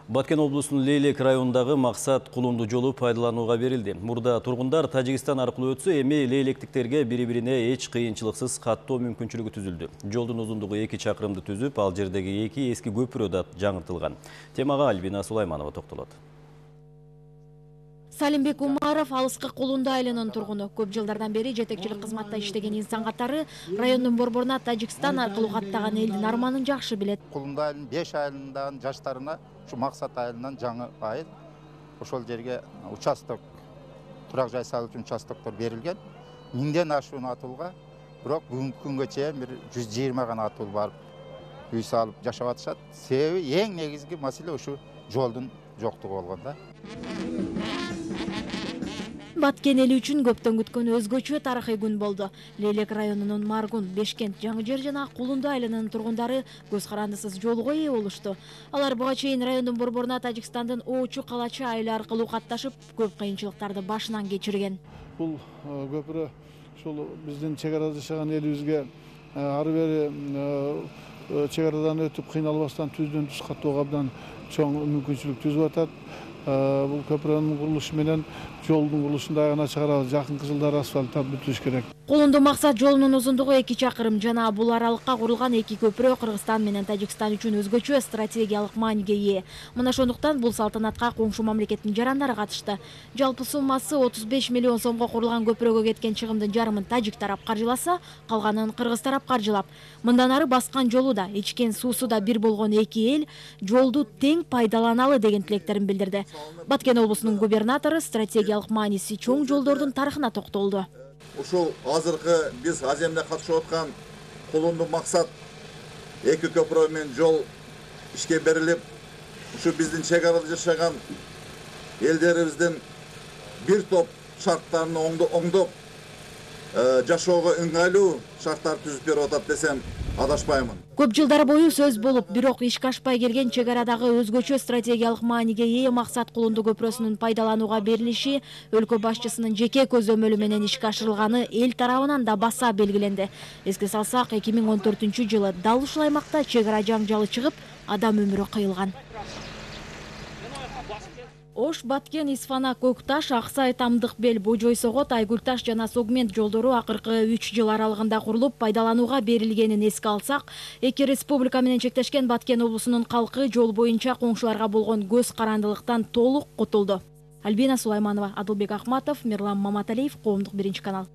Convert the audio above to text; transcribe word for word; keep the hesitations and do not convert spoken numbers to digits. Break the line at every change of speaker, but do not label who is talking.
Баткен облусунун Лейлек районундагы Максат Кулунду жолу пайдаланууга берилди. Мурда тургундар Тажикстан аркылуу өтсө, эми лейлектиктерге бири-бирине эч кыйынчылыксыз каттоо мүмкүнчүлүгү түзүлдү. Жолдун узундугу эки чакырымды түзүп, ал жердеги эки эски көпүрө да жаңыртылган. Темага Альбина Сулайманова токтолот.
Салимбек Умаров алыскы Кулунду айылынын тургуну. Көп жылдардан бери жетекчилик кызматта иштеген инсан катары райондун борборуна Тажикстан аркылуу каттаган элдин арманын жакшы билет.
Кулунду айылынын беш айылындан жаштарына ушу Максат айылынан жаңы айыл ошол жерге участок, турак жай салуу үчүн участоктор берилген. Миңден ашуун атуулга, бирок бүгүнкү күнгө чейин бир жүз жыйырма гана атуу барып үй салып жашап атышат. Себеби эң негизги маселе ушу жолдун жоктугу болгон да.
Баткен эли үчүн көптөн күткөн өзгөчө тарыхый күн болду. Лейлек районунун Маргун, Бешкент, Жаңы Жер жана Кулунду айылынын тургундары көз карандысыз жолго ээ болушту. Алар буга чейин райондун борборуна Тажикстандын Оочу Калачы айылы аркылуу катташып, көп кыйынчылыктарды башынан кечирген.
Бул көпүрө ушул биздин чек арада жашаган элибизге ары бери чек арадан өтүп кыйналбастан түздөн түз каттоого абдан чоң мүмкүнчүлүк түзүп атат. Бул көпүрөнүн курулушу менен жолдун курулушун да аягына чыгарабыз. Жакынкы жылдары асфальттап бүтүш керек.
Кулунду Максат жолунун узундугу эки чакырым жана бул аралыкка курулган эки көпүрө Кыргызстан менен Тажикстан үчүн өзгөчө стратегиялык мааниге ээ. Мына ошондуктан бул салтанатка коңшу мамлекеттин жарандары катышты. Жалпы суммасы отуз беш миллион сомго курулган көпүрөгө кеткен чыгымдын жарымын тажик тарап каржыласа, калганын кыргыз тарап каржылап. Мындан ары баскан жолу да, ичкен суусу да бир болгон эки эл жолду тең пайдаланалы деген тилектерин билдирди. Баткен облусунун губернатору стратегиялык мааниси чоң жолдордун тарыхына токтолду.
Ушул азыркы биз аземде катышып аткан Кулунду Максат эки көпүрө менен жол ишке берилип, ушу биздин чек арада жашаган элдерибиздин бир топ шарттарын оңдоп, жашоого ыңгайлуу шарттар түзүп берип атат десем адашпаймын.
Көп жылдар бою сөз болуп, бирок ишке ашпай келген чек арадагы өзгөчө стратегиялык мааниге ээ Максат Кулунду көпүрөсүнүн пайдаланууга берилиши өлкө башчысынын жеке көзөмөлү менен ишке ашырылганы эл тарабынан да баса белгиленди. Эске салсак, эки миң он төртүнчү жылы дал ушул аймакта чек ара жаңжалы чыгып, адам өмүрү кыйылган. Ош, Баткен, Исфана, Көкташ, Аксай, Тамдыкбел, Божой Согот, Айгулташ жана Согмент жолдору акыркы үч жыл аралыгында курулуп, пайдаланууга берилгенин эске алсак, эки республика менен чектешкен Баткен облусунун калкы жол боюнча коңшуларга болгон көз карандылыктан толук кутулду. Альбина Сулайманова, Адылбек Ахматов, Мирлан Маматалиев, Коомдук биринчи канал.